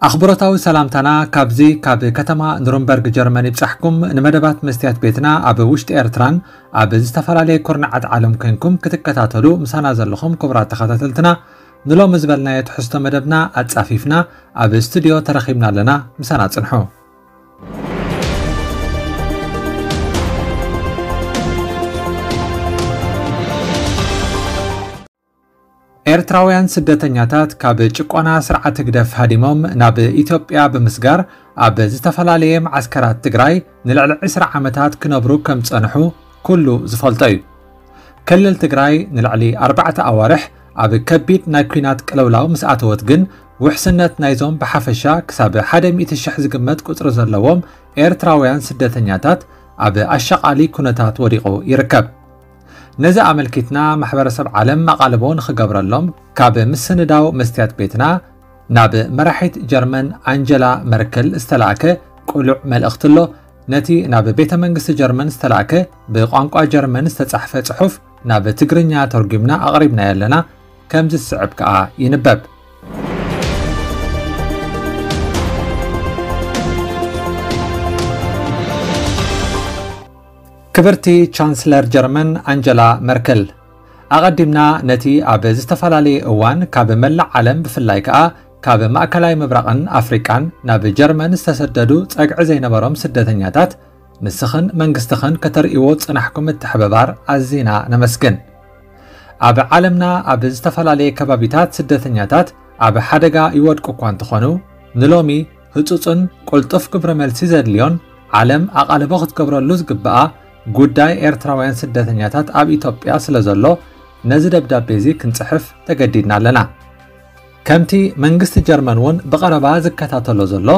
ኣኽብሮታዊ ሰላምታና ካብዚ ካብ ከተማ ኑርንበርግ ጀርመን ይብጻሕኩም። ንመደባት መስትያት ቤትና ኣብ ውሽጢ ኤርትራን ኣብ ዝተፈላለየ ኩርናዓት ዓለም ኮንኩም ክትከታተሉ ምሳና ዘለኹም ክቡራት ተኸታተልትና፣ ንሎሚ ዝበልናዮ ትሕዝቶ መደብና ኣጻፊፍና ኣብ ስቱድዮ ተረኺብና ኣለና። ምሳና ጽንሑ። ኤርትራውያን ስደተኛታት ካብ ጭቆና ስርዓት ህግደፍ ሃዲሞም ናብ ኢትዮጵያ ብምስጋር ኣብ ዝተፈላለየ መዓስከራት ትግራይ ንልዕሊ ዕስራ ዓመታት ክነብሩ ከም ዝጸንሑ ኩሉ ዝፈልጦ እዩ። ክልል ትግራይ ንልዕሊ ኣርባዕተ ኣዋርሕ ኣብ ከቢድ ናይ ኲናት ቅልውላው ምስ ኣተወት ግን ውሕስነት ናይዞም ብሓፈሻ ክሳብ ሓደ ሚእቲ ሽሕ ዝግመት ቁጽሪ ዘለዎም ኤርትራውያን ስደተኛታት ኣብ ኣሻቓሊ ኩነታት ወዲቑ ይርከብ። ነዚ ኣመልኪትና ማሕበረሰብ ዓለም ኣቓልቦ ንኽገብረሎም ካብ ምስንዳው መስትያት ቤትና ናብ መራሒት ጀርመን ኣንጀላ መርከል ዝተላእከ ቅሉዕ መልእኽቲ ኣሎ። ነቲ ናብ ቤተ መንግስቲ ጀርመን ዝተላእከ ብቋንቋ ጀርመን ዝተጻሕፈ ጽሑፍ ናብ ትግርኛ ተርጒምና ኣቕሪብናዮ ኣለና። ከምዚ ዝስዕብ ከኣ ይንበብ። ክብርቲ ቻንስለር ጀርመን ኣንጀላ መርከል፣ ኣቐዲምና ነቲ ኣብ ዝተፈላለየ እዋን ካብ መላእ ዓለም ብፍላይ ከኣ ካብ ማእከላይ ምብራቕን ኣፍሪቃን ናብ ጀርመን ዝተሰደዱ ጸግዒ ዘይነበሮም ስደተኛታት ንስኽን መንግስትኽን ከተርእይዎ ዝጸናሕኩም ምትሕብባር ኣዚና ነመስግን። ኣብ ዓለምና ኣብ ዝተፈላለየ ከባቢታት ስደተኛታት ኣብ ሓደጋ ይወድቁ እኳ እንተኾኑ፣ ንሎሚ ህጹጽን ቅልጡፍ ግብረ መልሲ ዘድልዮን ዓለም ኣቓልቦ ክትገብረሉ ዝግብኣ ጉዳይ ኤርትራውያን ስደተኛታት ኣብ ኢትዮጵያ ስለ ዘሎ፣ ነዚ ደብዳቤ እዚ ክንጽሕፍ ተገዲድና ኣለና። ከምቲ መንግስቲ ጀርመን እውን ብቐረባ ዝከታተሎ ዘሎ፣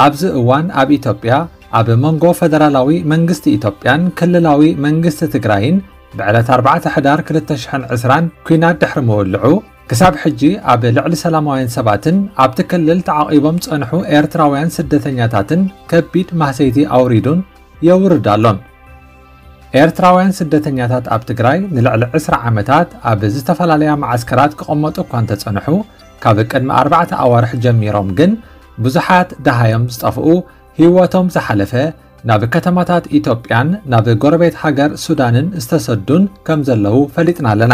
ኣብዚ እዋን ኣብ ኢትዮጵያ ኣብ መንጎ ፈደራላዊ መንግስቲ ኢትዮጵያን ክልላዊ መንግስቲ ትግራይን ብዕለት ኣርባዕተ ሕዳር ክልተ ሽሕን ዕስራን ኲናት ድሕሪ ምውልዑ፣ ክሳብ ሕጂ ኣብ ልዕሊ ሰላማውያን ሰባትን ኣብቲ ክልል ተዓቒቦም ዝጸንሑ ኤርትራውያን ስደተኛታትን ከቢድ ማህሰይቲ ኣውሪዱን የውርድ ኣሎን። ኤርትራውያን ስደተኛታት ኣብ ትግራይ ንልዕሊ ዕስራ ዓመታት ኣብ ዝተፈላለያ መዓስከራት ክቕመጡ እኳ እንተጸንሑ፣ ካብ ቅድሚ ኣርባዕተ ኣዋርሕ ጀሚሮም ግን ብዙሓት ደሃዮም ዝጠፍኡ፣ ህይወቶም ዝሓለፈ፣ ናብ ከተማታት ኢትዮጵያን ናብ ጎረቤት ሃገር ሱዳንን ዝተሰዱን ከም ዘለዉ ፈሊጥና ኣለና።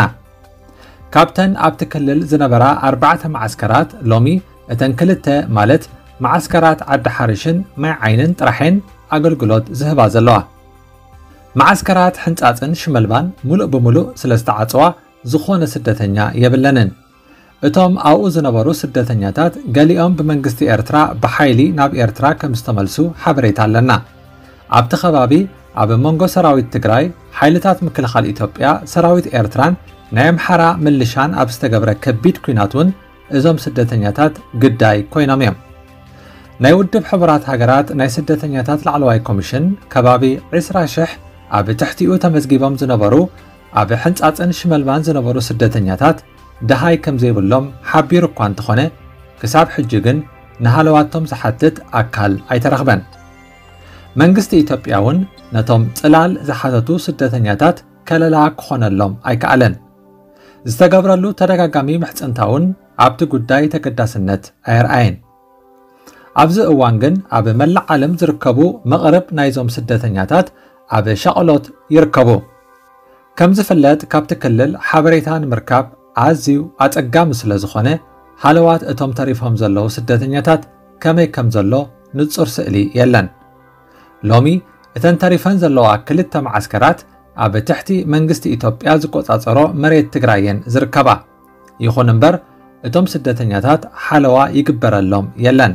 ካብተን ኣብቲ ክልል ዝነበራ ኣርባዕተ መዓስከራት፣ ሎሚ እተን ክልተ፣ ማለት መዓስከራት ዓዲ ሓርሽን ማይ ዓይንን ጥራሕን ኣገልግሎት ዝህባ ዘለዋ። መዓስከራት ሕንጻጽን ሽመልባን ሙሉእ ብሙሉእ ስለ ዝተዓጽዋ፣ ዝኾነ ስደተኛ የብለንን። እቶም ኣብኡ ዝነበሩ ስደተኛታት ገሊኦም ብመንግስቲ ኤርትራ ብሓይሊ ናብ ኤርትራ ከም ዝተመልሱ ሓበሬታ ኣለና። ኣብቲ ከባቢ ኣብ መንጎ ሰራዊት ትግራይ፣ ሓይልታት ምክልኻል ኢትዮጵያ፣ ሰራዊት ኤርትራን ናይ ኣምሓራ ምልሻን ኣብ ዝተገብረ ከቢድ ኲናት እውን እዞም ስደተኛታት ግዳይ ኮይኖም እዮም። ናይ ውድብ ሕቡራት ሃገራት ናይ ስደተኛታት ላዕለዋይ ኮሚሽን ከባቢ ዕስራ ሽሕ ኣብ ትሕቲኡ ተመዝጊቦም ዝነበሩ ኣብ ሕንጻጽን ሽመልባን ዝነበሩ ስደተኛታት ደሃይ ከም ዘይብሎም ሓቢሩ እኳ እንተኾነ፣ ክሳብ ሕጂ ግን ንሃለዋቶም ዝሓትት ኣካል ኣይተረኽበን። መንግስቲ ኢትዮጵያ እውን ነቶም ጽላል ዝሓተቱ ስደተኛታት ከለላ ክኾነሎም ኣይከኣለን። ዝተገብረሉ ተደጋጋሚ ምሕጽንታ እውን ኣብቲ ጉዳይ ተገዳስነት ኣየርኣየን። ኣብዚ እዋን ግን ኣብ መላእ ዓለም ዝርከቡ መቕርብ ናይዞም ስደተኛታት ኣብ ሻቕሎት ይርከቡ። ከም ዝፍለጥ፣ ካብቲ ክልል ሓበሬታ ንምርካብ ኣዝዩ ኣጸጋሚ ስለ ዝኾነ፣ ሃለዋት እቶም ተሪፎም ዘለዉ ስደተኛታት ከመይ ከም ዘሎ ንጹር ስእሊ የለን። ሎሚ እተን ተሪፈን ዘለዋ ክልተ መዓስከራት ኣብ ትሕቲ መንግስቲ ኢትዮጵያ ዝቆጻጸሮ መሬት ትግራይ እየን ዝርከባ። ይኹን እምበር፣ እቶም ስደተኛታት ሓለዋ ይግበረሎም የለን።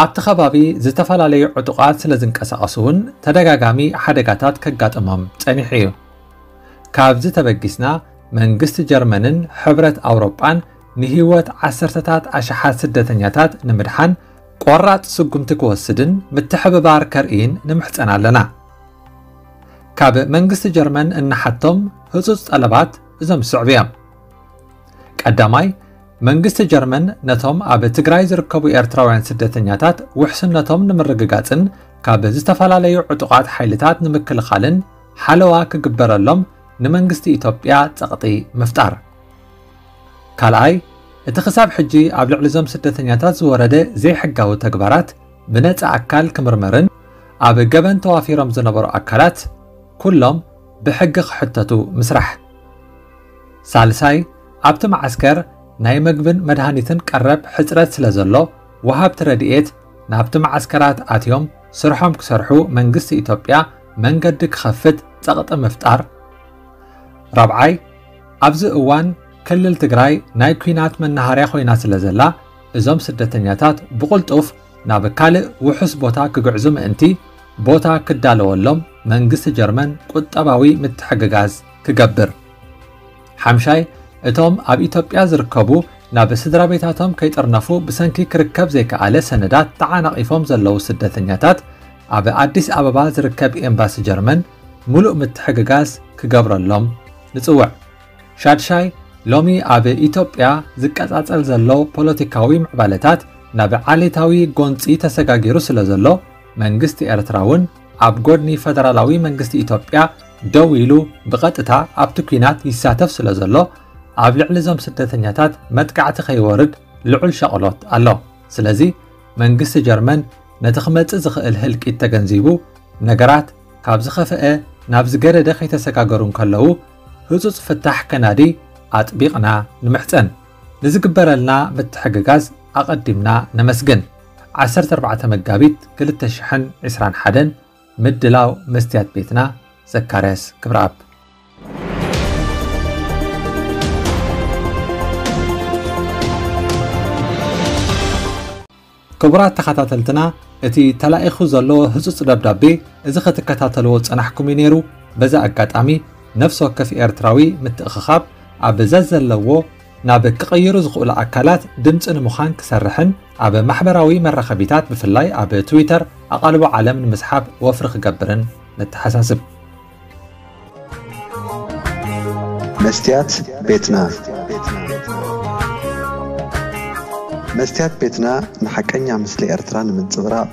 ኣብቲ ከባቢ ዝተፈላለዩ ዕጡቓት ስለ ዝንቀሳቐሱ እውን ተደጋጋሚ ሓደጋታት ከጋጥሞም ጸኒሑ እዩ። ካብዚ ተበጊስና፣ መንግስቲ ጀርመንን ሕብረት ኣውሮጳን ንህይወት ዓሰርተታት ኣሽሓት ስደተኛታት ንምድሓን ቆራጽ ስጉምቲ ክወስድን ምትሕብባር ከርእይን ንምሕጸን ኣለና። ካብ መንግስቲ ጀርመን እንሓቶም ህጹጽ ጠለባት እዞም ዝስዕቡ እዮም። ቀዳማይ፣ መንግስቲ ጀርመን ነቶም ኣብ ትግራይ ዝርከቡ ኤርትራውያን ስደተኛታት ውሕስነቶም ንምርግጋጽን ካብ ዝተፈላለዩ ዕጡቓት ሓይልታት ንምክልኻልን ሓለዋ ክግበረሎም ንመንግስቲ ኢትዮጵያ ጸቕጢ ምፍጣር። ካልኣይ፣ እቲ ክሳብ ሕጂ ኣብ ልዕሊ እዞም ስደተኛታት ዝወረደ ዘይሕጋዊ ተግባራት ብነጻ ኣካል ክምርመርን ኣብ ገበን ተዋፊሮም ዝነበሩ ኣካላት ኩሎም ብሕጊ ክሕተቱ ምስራሕ። ሳልሳይ፣ ኣብቲ መዓስከር ናይ መግብን መድሃኒትን ቀረብ ሕጽረት ስለ ዘሎ፣ ወሃብቲ ረድኤት ናብቲ መዓስከራት ኣትዮም ስርሖም ክሰርሑ መንግስቲ ኢትዮጵያ መንገዲ ክኸፍት ጸቕጢ ምፍጣር። ራብዓይ፣ ኣብዚ እዋን ክልል ትግራይ ናይ ኲናት መናሃርያ ኮይና ስለ ዘላ፣ እዞም ስደተኛታት ብቕልጡፍ ናብ ካልእ ውሑስ ቦታ ክግዕዙ ምእንቲ ቦታ ክዳለወሎም መንግስቲ ጀርመን ቁጠባዊ ምትሕግጋዝ ክገብር። ሓምሻይ፣ እቶም ኣብ ኢትዮጵያ ዝርከቡ ናብ ስድራ ቤታቶም ከይጥርነፉ ብሰንኪ ክርከብ ዘይከኣለ ሰነዳት ተዓናቒፎም ዘለዉ ስደተኛታት ኣብ ኣዲስ ኣበባ ዝርከብ ኤምባሲ ጀርመን ምሉእ ምትሕግጋዝ ክገብረሎም ንጽውዕ። ሻድሻይ፣ ሎሚ ኣብ ኢትዮጵያ ዝቀጻጸል ዘሎ ፖለቲካዊ ምዕባለታት ናብ ዓሌታዊ ጎንጺ ተሰጋጊሩ ስለ ዘሎ፣ መንግስቲ ኤርትራ እውን ኣብ ጎድኒ ፈደራላዊ መንግስቲ ኢትዮጵያ ደው ኢሉ ብቐጥታ ኣብቲ ኲናት ይሳተፍ ስለ ዘሎ፣ ኣብ ልዕሊ እዞም ስደተኛታት መጥቃዕቲ ከይወርድ ልዑል ሻቕሎት ኣሎ። ስለዚ መንግስቲ ጀርመን ነቲ ክመጽእ ዝኽእል ህልቂት ተገንዚቡ፣ ነገራት ካብ ዝኸፍአ ናብ ዝገደደ ከይተሰጋገሩ እንከለዉ፣ ህጹጽ ፍታሕ ከናዲ ኣጥቢቕና ንምሕጸን። ንዝግበረልና ምትሕግጋዝ ኣቐዲምና ነመስግን። ዓሰርተ ኣርባዕተ መጋቢት ክልተ ሽሕን ዕስራን ሓደን፣ ምድላው መስትያት ቤትና፣ ዘካርያስ ክብረኣብ። ክቡራት ተኸታተልትና፣ እቲ ተላኢኹ ዘሎ ህጹጽ ደብዳቤ፣ እዚ ክትከታተልዎ ዝጸናሕኩም እዩ ነይሩ። በዚ ኣጋጣሚ፣ ነፍሲ ወከፍ ኤርትራዊ ምትእኽኻብ ኣብ ዘዘለዎ ናብ ክቕይሩ ዝኽእሉ ኣካላት ድምጺ ንምዃን ክሰርሕን ኣብ ማሕበራዊ መራኸቢታት፣ ብፍላይ ኣብ ትዊተር፣ ኣቓልቦ ዓለም ንምስሓብ ወፍሪ ክገብርን ነተሓሳስብ። መስትያት ቤትና። መስትያት ቤትና ንሓቀኛ ምስሊ ኤርትራ ንምንጽብራቕ፣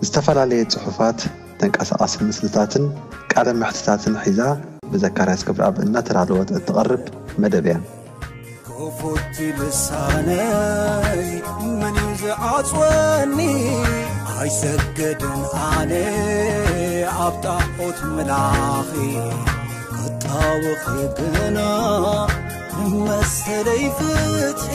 ዝተፈላለየ ጽሑፋት፣ ተንቀሳቓሲ ምስልታትን ቃለ መሕትታትን ሒዛ ብዘካርያስ ክብረኣብ እናተዳለወት እትቐርብ መደብ እያ። ክፉት ልሳነይ መን እዩ ዝዓጽወኒ? ኣይሰግድን ኣነ ኣብ ጣዖት ምላኺ፣ ክጣወኺ ግና መሰለይ ፍትሒ።